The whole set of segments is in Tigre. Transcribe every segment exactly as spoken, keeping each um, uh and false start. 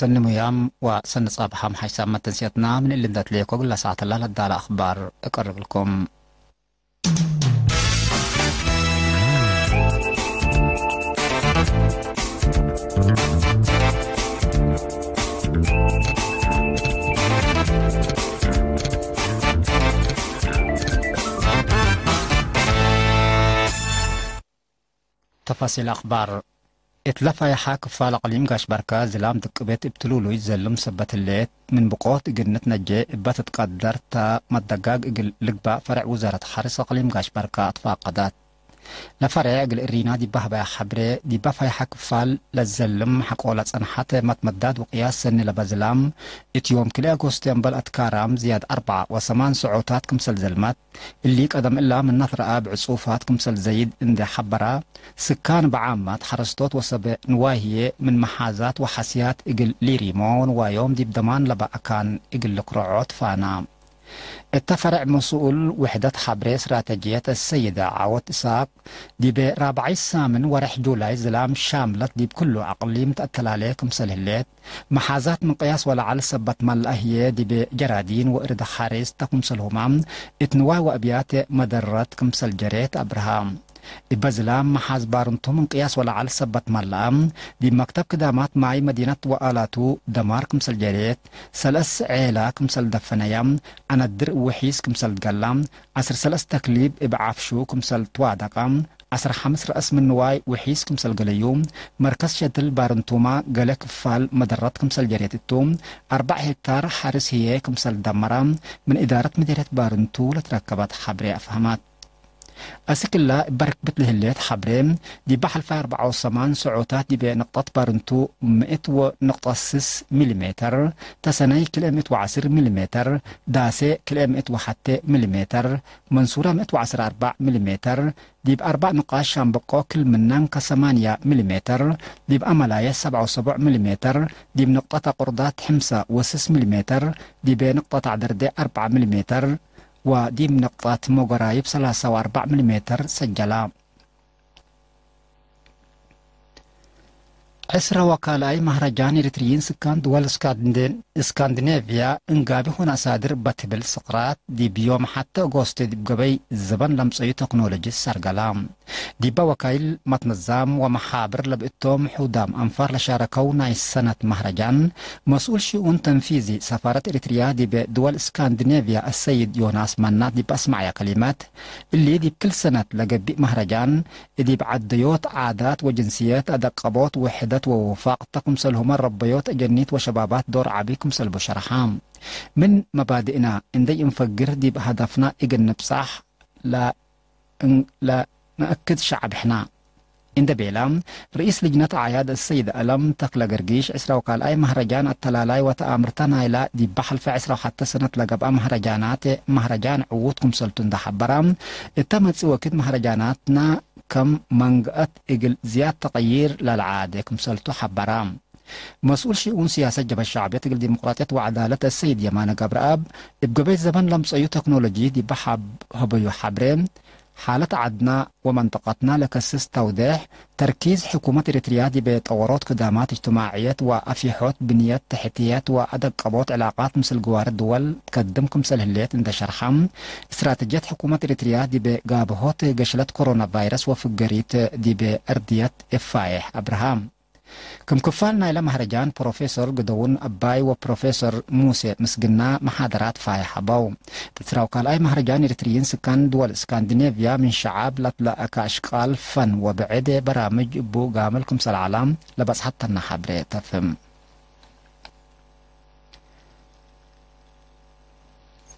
ሰኒ ሙያም ወሰኒ ጸብሐም ሓይሳም መተንስየትና ምን እሊ እንዴ ትሌኮ እግለ ሰዓት ለለዳለ አኽባር እቀርብልኩም። ተፋሲል አኽባር። እት ለፋይሐ ክፋል አቅሊም ጋሽ በርከ ዝላም ድቅቤት እብ ትሉሉይ ዘልም ሰበት ህሌት፣ ምን ብቆት እግል ንትነጄ እበ ትትቀደር ተ መደጋግ እግል ልግባእ ፈሬዕ ውዛረት ሐርስ አቅሊም ጋሽ በርከ አትፋቀደት። ለፈሬዕ እግል እሪና ዲበ ሀበያ ሐብሬ፣ ዲበ ፋይሐ ክፋል ለዘልም ሐቆለ ጸንሐተ መትመዳድ ወቅያስ ሰኒ ለበ ዝላም፣ እት ዮም ክልኤ አጎስት እምበል አትካራም ዝያድ አርበዕ ወሰማን ሰዖታት ክምሰል ዘልመት፣ እሊ ቀደም እላ ምናት ረአ እብ ዕጹፋት ክምሰል ዘይድ እንዴ ሐበራ፣ ስካን በዓመት ሐረስቶት ወሰበ ንዋይ ህዬ ምን መሓዛት ወሐስያት እግል ሊሪሞ ወንዋዮም ዲብ ደማን ለበ አካን እግል ልክርዖ ትፋና። እተ ፈረዕ መስኡል ውሕደት ሐብሬ እስትራተጅየት አሰይደ ዓወት እሳቅ፣ ዲበ ራብዓይ ሳምን ወሬሕ ጁላይ ዝላም ሻምለት ዲብ ክሉ አቅሊም ተአተላሌ ክምሰል ህሌት፣ መሓዛት ምን ቅያስ ወለዐል ሰበት መልአ ህዬ ዲብ ጀራዲን ወእርድ ሐሬስ ተ ክምሰልሁመ እት ንዋይ ወአብያት መደረት ክምሰል ጀሬት አብርሃ። እበ ዝላም መሓዝ ባርንቱ ምን ቅያስ ወለዐል ሰበት መልአ፣ ዲብ መክተብ ክዳማት ማይ መዲነት ወአላቱ ደማር ክምሰል ጀሬት፣ ሰለስ ዔላ ክምሰል ደፈነያ፣ አነድር ወሒስ ክምሰል ትገላ፣ ዐስር ሰለስ ተክሊብ እብ ዓፍሹ ክምሰል ትዋደቀ፣ ዐስር ሐምስ ረአስ ምን ንዋይ ውሒስ ክምሰል ገለዩ፣ መርከዝ ሸትል ባርንቱመ ገሌ ክፋል መደረት ክምሰል ጀሬት እቱ፣ አርበዕ ሄክታር ሐርስ ህዬ ክምሰል ደመረ፣ ምን እዳረት ምዴርየት ባርንቱ ለትረከበት ሐብሬ አፍሀመት። አስክ እለ እበ ርክብት ለህሌት ሐብሬ፣ ዲበ ሐልፋይ አርበዕ ወሰማን ሰዖታት ዲበ ንቅጠት ባርንቱ ምእት ወንቅጠ ስስ ሚሊሜተር፣ ተሰነይ ክልኤ ምእት ወዐስር ሚሊሜተር፣ ዳሴ ክልኤ ምእት ወሐቴ ሚሊሜተር፣ መንሱረ ምእት ወዐስር አርበዕ ሚሊሜተር፣ ዲብ አርበዕ ንቃሽ ሻምበቆ ክል ምናን ከሰማንያ ሚሊሜተር፣ ዲብ አመላየ ሰብዓ ወሰቡዕ ሚሊሜተር፣ ዲብ ንቅጠት አቁርዳት ሕምሰ ወስስ ሚሊሜተር፣ ዲበ ንቅጠት አዕደርዴ አርበዕ ሚሊሜተር፣ ወዲብ ንቅጠት ሞገራይብ ሰላሳ ወአርበዕ ሚሊሜተር ሰጀላ። ዕስረ ወካልኣይ መህረጃን ኤሪትርይን ስካን ድወል እስካንድ-፣ እስካንዲኔቭያ እንጋቢ ሆነ አሳድር በትብል ስቅራት፣ ዲብ ዮም ሐተ ኦጎስት ዲብ ገበይ ዘበን ለምጸዩ ተክኖሎጂ ሰርገላ። ዲበ ወካይል መትነዛም ወመሓብር ለብእቶም ሑዳም አንፋር ለሻረከው ናይ ሰነት መህረጃን፣ መስኡል ሽኡን ተንፊዚ ሰፋረት ኤሪትርያ ዲበ ድወል እስካንዲኔቭያ አሰይድ ዮናስ መናት ዲብ አስመዐያ ከሊመት፣ እሊ ዲብ ክል ሰነት ለገቢእ መህረጃን፣ እዲብ ዐደዮት፣ ዓዳት ወጅንስየት፣ አደቀቦት፣ ውሕደት ወውፋቅ ተ ክምሰልሁመ ረበዮት አጀኒት ወሸባባት ዶር ዐቢ ክምሰልቡ ሸርሐ። ምን መባድእና እንዴ ኢንፈግር ዲብ ሀደፍና እግል ንብጻሕ ለ-፣ እን-፣ ለነአክድ ሸዐብ ሕና። እንዴ ቤለ፣ ርኢስ ልጅነት አዕያድ አሰይድ አለም ተክለ ገርጊሽ፣ ዕስራ ወካልኣይ መህረጃን አተላላይ ወተአምርተ ናይላ ዲበ ሐልፈ ዕስራ ወሐተ ሰነት ለገብአ መህረጃናት፣ መህረጃን ዕዉት ክምሰልቱ እንዴ ሐበረ፣ እተ መጽእ ወክድ መህረጃናትና ከም መንገአት እግል ዝያድ ተቅይር ለለዓዴ ክምሰልቱ ሐበረ። መስኡል ሽኡን ስያሰት ጀብሀት ሸዕብየት እግል ዲሞቅራጥየት ወዐዳለት አሰይድ የማነ ገብረአብ፣ እብ ገበይ ዘበን ለምጸዩ ተክኖሎጂ ዲበ ሐብ-፣ ሀበዩ ሐብሬ፣ ሓለት ዐድና ወመንጠቀትና ለከስስ ተውዴሕ፣ ተርኪዝ ሕኩመት ኤሪትርያ ዲበ ጠወሮት ክዳማት እጅትማዕየት ወአፊሖት ብንየት ተሕትየት ወአደቀቦት ዕላቃት ምስል ግዋር ድወል ትከድም ክምሰል ህሌት እንዴ ሸርሐ፣ እስትራተጅየት ሕኩመት ኤሪትርያ ዲበ ጋብሆት ገሽለት ኮሮና ቫይረስ ወፍገሪት ዲበ እርድየት እፋይሕ አብርሃም። ክም ክፋል ናይለ መህረጃን፣ ፕሮፌሶር ግደውን አባይ ወፕሮፌሶር ሙሴ ምስግና መሓደራት ፋይሕ ሀበው። ዕስራ ወካልኣይ መህረጃን ኤሪትርይን ስካን ድወል እስካንዲኔቭያ ምን ሸዓብ ለትለአከ አሽቃል ፈን ወብዕድ በራምጅ እቡ ጋምል ክምሰል ዐላ ለበጽሐተና ሐብሬ ተፍህም።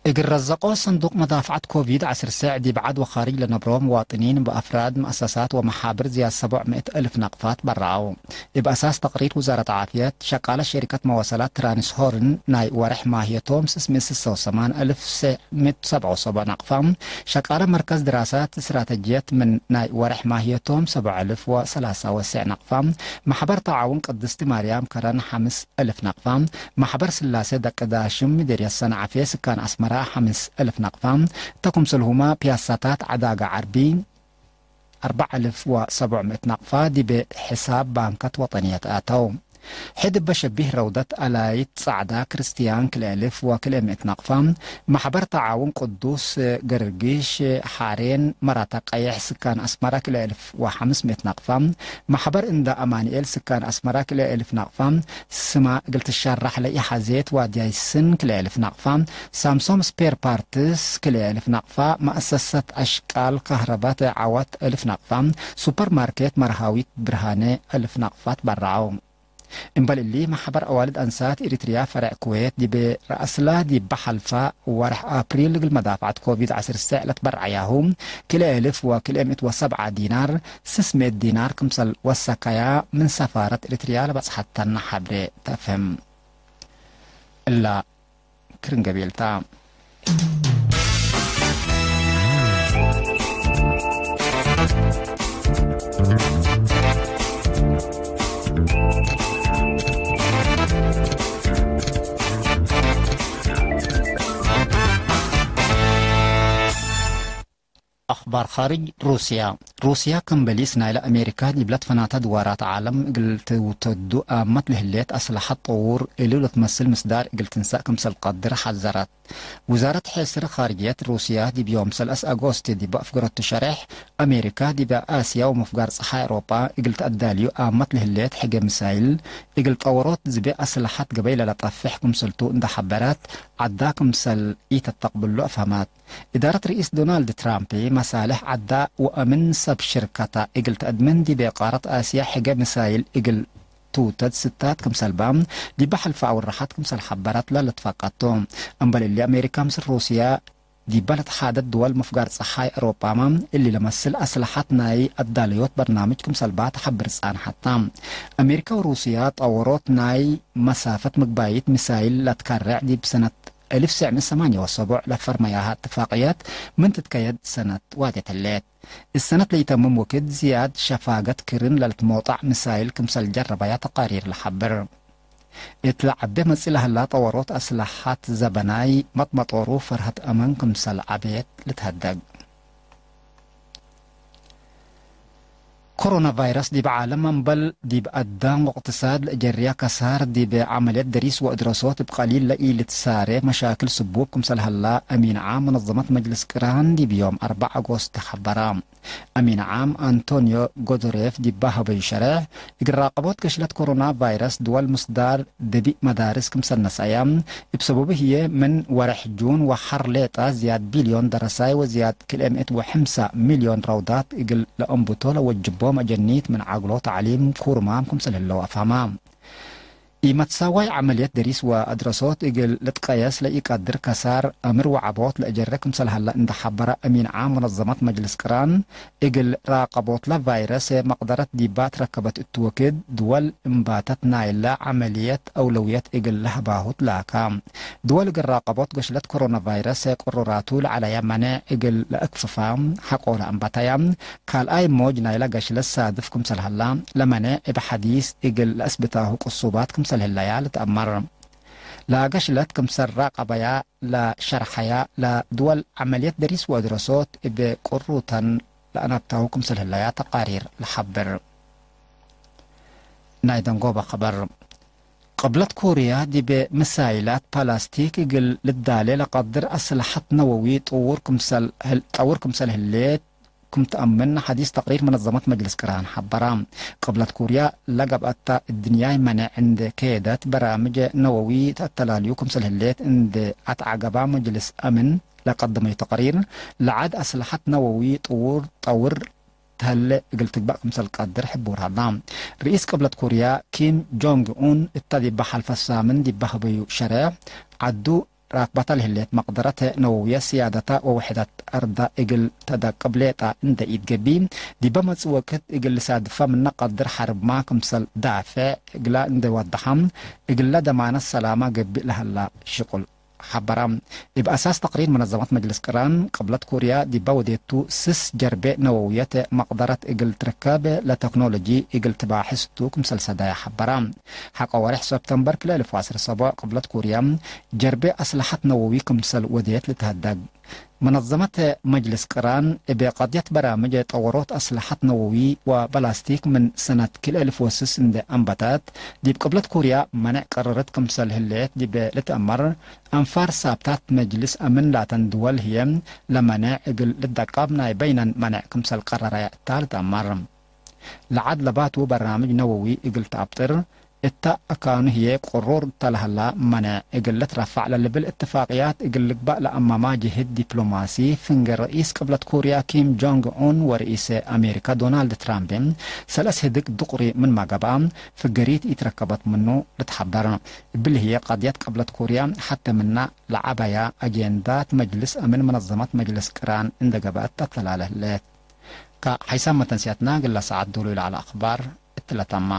እግል ረዘቆ ሰንዱቅ መዳፍዐት ኮቪድ ዐስር ሰዕ ዲብ ዐድ ወካርጅ ለነብሮ ምዋጥኒን በአፍራድ፣ መአሰሳት ወመሓብር ዝያድ ሰቦዕ ምእት አልፍ ናቅፋት በረዐው። እብ አሳስ ተቅሪር ውዛረት ዓፍየት፣ ሸቃለ ሸሪከት መዋሰላት ትራንስሆርን ናይ ወሬሕ ማህየቶም ስስ ምእት ስሰ ወሰማን አልፍ ሰዕ ምእት ሰብዓ ወሰቡዕ ናቅፋ፣ ሸቃለ መርከዝ ድራሳት እስትራተጅየት ምን ናይ ወሬሕ ማህየቶም ሰብዓ አልፍ ወሰላሳ ወሰዕ ናቅፋ፣ ማሕበር ተዓውን ቅድስቲ ማርያም ከረን ሐምስ አልፍ ናቅፋ፣ ማሕበር ስላሴ ደቂ ዳሽም ምዴርየት ሰንዓፌ ስካን አስመራ ሐምስ አልፍ ናቅፋ፣ እተ ክምሰልሁመ ፒያሳታት ዐዳገ ዐርቢ አርበዕ አልፍ ወሰቡዕ ምእት ናቅፋ ዲበ ሕሳብ ባንከት ወጠንየት አተው። ሕድ እበ ሸቢህ ረውደት አላይት ጸዕዳ ክርስትያን ክልኤ እልፍ ወክልኤ ምእት ናቅፋ፣ መሕበር ተዓውን ቅዱስ ገርጊሽ ሓሬን መራተ ቀየሕ ስካን አስመረ ክልኤ እልፍ ወሐምስ ምእት ናቅፋ፣ መሕበር እንዳ አማንኤል ስካን አስመረ ክልኤ እልፍ ናቅፋ፣ ስማ እግል ትሸራሕ ለኢሐዜት ዋድያይ ስን ክልኤ እልፍ ናቅፋ፣ ሳምሶም ስፔር ፓርትስ ክልኤ እልፍ ናቅፋ፣ መአሰሰት አሽቃል ካህረባት ዓወት እልፍ ናቅፋ፣ ሱፐር ማርኬት መርሃዊት ብርሃነ እልፍ ናቅፋ ትበረዐው። እምበል እሊ፣ መሕበር አዋልድ አንሳት ኤሪትርያ ፈረዕ ኩዌት ዲብ ረአስላ ዲብ ሐልፋ ወርሕ አፕሪል እግል መዳፍዐት ኮቪድ ዐስር ሰዕ ለትበርዐያሁ ክልኤ እልፍ ወክልኤ ምእት ወሰብዓ ዲናር፣ ስስ ምእት ዲናር ክምሰል ወሰከያ ምን ሰፋረት ኤሪትርያ ለበጽሐተነ ሐብሬ ተፍህም። እላ ክርን ገቤልታ። አኽባር ኻርጅ። ሩስያ። ሩስያ ከም በሊስ ናይለ አሜሪካ ዲብ ለትፈናተ ድዋራት ዓለም እግል ትውተዱ አመት ለህሌት አስለሐት ጠዉር እሉ ለትመስል ምስዳር እግል ትንሰእ ክምሰል ቀድር ሐዘረት። ውዛረት ሕስር ኻርጅየት ሩስያ ዲብ ዮም ሰለስ አጎስት ዲብ አፍገረቱ ሸሬሕ፣ አሜሪካ ዲብ አስያ ወመፍጋር ጸሓይ አውሮጳ እግል ተአዳልዩ አመት ለህሌት ሕገ ሚሳይል እግል ጠወሮት ዝቤ አስለሐት ገበይ ለለጠፍሕ ክምሰልቱ እንደ ሐበረት፣ ዐዳ ክምሰል ኢተተቅብሎ አፍሀመት። እዳረት ርኢስ ዶናልድ ትራምፕ መሳልሕ ዐዳ ወአምን ሰብ ሽርከታ እግል ተአድምን ዲብ ቃረት አስያ ሕገ ሚሳይል እግል ትውተድ ስታት ክምሰል በ ዲበ ሐልፈ አውርሐት ክምሰል ሐበረት ለልትፈቀድ ቱ። እምበል እሊ አሜሪካ ምስል ሩስያ ዲበ ለተሓደት ድወል መፍጋር ጸሓይ አውሮጳመ እሊ ለመስል አስለሐት ናይ አዳለዮት በርናምጅ ክምሰል በ ተሐብር ጻንሐት ተ። አሜሪካ ወሩስያ ጠወሮት ናይ መሳፈት ምግባይት ሚሳይል ለትከረዕ ዲብ ሰነት እልፍ ትሰዕ ምእት ሰማንየ ወሰቡዕ ለፈርመያሀ እትፋቅየት ምን ትትከየድ ሰነት ዋዴት ህሌት። እሰነት ለኢተምም ወክድ ዝያድ ሸፋገት ክርን ለልትሞጣዕ ምሳይል ክምሰል ጀረበያ ተቃሪር ለሐብር። እት ለዐቤ መጽእ ለህላ ጠወሮት አስለሐት ዘበናይ መጥመጦሩ ፈርሀት አመን ክምሰል ዐቤት ልትሀደግ። ኮሮና ቫይረስ ዲብ ዓለም እምበል ዲብ አዳም ወእቅትሳድ ለእጀርያ ከሳር ዲብ ዐመልየት ደሪስ ወእድረሶት እብ ቀሊል ለኢልትሳሬ መሻክል ስቡብ ክምሰል ሀላ አሚን ዓም መነዘመት መጅልስ ቅራን ዲብ ዮም አርበዕ አጎስት ሐበራ። አሚን ዓም አንቶንዮ ጎዶሬፍ ዲብ ሀበዩ ሸሬሕ፣ እግል ራቀቦት ገሽለት ኮሮና ቫይረስ ድወል ምስዳር ደቢእ መዳርስ ክምሰል ነስአያ፣ እብ ሰበቡ ህዬ ምን ወሬሕ ጁን ወሐር ሌጣ ዝያድ ቢልዮን ደረሳይ ወዝያድ ክልኤ ምእት ወሐምሳ ሚልዮን ረውዳት እግል ለአንብቶ ለወጅቦም አጀኒት ምን ዐግሎ ተዕሊም ኩርማም ክምሰል ህለው አፍሀማ። ኢመትሳዋይ ዐመልየት ደሪስ ወአድረሶት እግል ልትቀየስ ለኢቀድር ከሳር አምር ወዐቦት ለእጀረ ክምሰል ሀለ እንደ ሐበረ አሚን ዓም መነዘመት መጅልስ ቅራን፣ እግል ራቀቦትለ ቫይረስ መቅደረት ዲባ ትረከበት እቱ ወክድ፣ ድወል እምባተት ናይለ ዐመልየት አውለውየት እግል ለሀባሁት ላካ። ድወል እግል ራቀቦት ገሽለት ኮሮና ቫይረስ ቅሩራቱ ለዐለየ መኔዕ እግል ለአክፍፋ ሐቆለ አንበተያ። ካልኣይ ሞጅ ናይለ ገሽለት ሳድፍ ክምሰል ሀላ ለመኔዕ እብ ሐዲስ እግል ለአስብታሁ ቅሱባት ክምሰል ህለያ ልትአመር። ለገሽለት ክምሰል ራቀበያ ለሸርሐያ ለድወል ዐመልየት ደሪስ ወአድረሶት እብ ቅሩተን ለአናብታሁ ክምሰል ህለያ ተቃሪር ለሐብር። ናይ ደንጎበ ኸበር። ቅብለት ኮርያ ዲብ ምሳይላት ፓላስቲክ እግል ልዳሌ ለቀድር አስለሐት ነወዊ ጥውር ክምሰል ህል-፣ ጠውር ክምሰል ህሌት ክም ተአምን ሐዲስ ተቅሪር መነዘመት መጅልስ ቅራን ሐበራ። ቅብለት ኮርያ ለገብአታ እድንያይ መኔዕ እንዴ ኬደት በራምጅ ነወዊ ተአተላልዩ ክምሰል ህሌት እንዴ አትዐገባ መጅልስ አምን ለቀደመዩ ተቅሪር፣ ለዐድ አስለሐት ነወዊ ጥውር ጠውር ተህሌ እግል ትግበእ ክምሰል ቀድር ሕቡር ሀላ። ርኢስ ቅብለት ኮርያ ኪም ጆንግ ኡን እተ ዲበ ሐልፈ ሳምን ዲበ ሀበዩ ሸሬሕ፣ ዐዱ ራክበተ ለህሌት መቅደረት ነወውየ ስያደተ ወውሕደት አርዳ እግል ተደቅብ ሌጣ እንዴ ኢትገብእ፣ ዲበ መጽእ ወክድ እግል ልሳድፈ ምነ ቀድር ሐርብማ ክምሰል ዳፌዕ እግላ እንዴ ወደሐ፣ እግለ ደማነት ሰላማ ገብእ ለሀላ ሽቁል ሐበረ። እብ አሳስ ተቅሪር መነዘመት መጅልስ ቅራን፣ ቅብለት ኮርያ ዲበ ወዴቱ ስስ ጀርቤ ነወውየት መቅደረት እግል ትርከብ ለተክኖሎጂ እግል ትባሕስ ቱ ክምሰል ሰዳየ ሐበረ። ሐቆ ወሬሕ ሰብተምበር ክልኤ እልፍ ወዐስር ሰቡዕ ቅብለት ኮርያ ጀርቤ አስለሐት ነወዊ ክምሰል ወዴት ልትሀደግ። መነዘመት መጅልስ ቅራን እብ ቀድየት በራምጅ ጠወሮት አስለሐት ነወዊ ወበላስቲክ ምን ሰነት ክልኤ ልፎስስ እንዴ አንበተት፣ ዲብ ቅብለት ኮርያ መኔዕ ቀረረት ክምሰል ህሌት ዲብ ልትአመር፣ አንፋር ሳብታት መጅልስ አምን ላተን ድወል ህዬ ለመኔዕ እግል ልትደቀብ ናይ በይነን መኔዕ ክምሰል ቀረረ እታ ልትአመር። ለዐድ ለባቱ በራምጅ ነወዊ እግል ተአብጥር፣ እተ አካኑ ህዬ ቅሩር እተ ለሀላ መኔዕ እግል ልትረፈዕ ለልብል እትፋቅያት እግል ልግባእ ለአመማ ጅህድ ዲፕሎማሲ፣ ፍንጌ ረኢስ ቅብለት ኮርያ ኪም ጆንግ ኡን ወረኢስ አሜሪካ ዶናልድ ትራምፕ ሰለስ ህድግ ዱቅሪ ምንመ ገብአ፣ ፍገሪት ኢትረከበት ምኑ ልትሐበር። እብሊ ህዬ ቀድየት ቅብለት ኮርያ ሐቴ ምና ለዐበያ አጄንዳት መጅልስ አምን መነዘመት መጅልስ ቅራን እንዴ ገብአት ተተላለ ህሌት። ከሐይሳም መተንስያትና እግለ ሰዓት ዶሉ ለዐለ አክባር እትለ ተማ።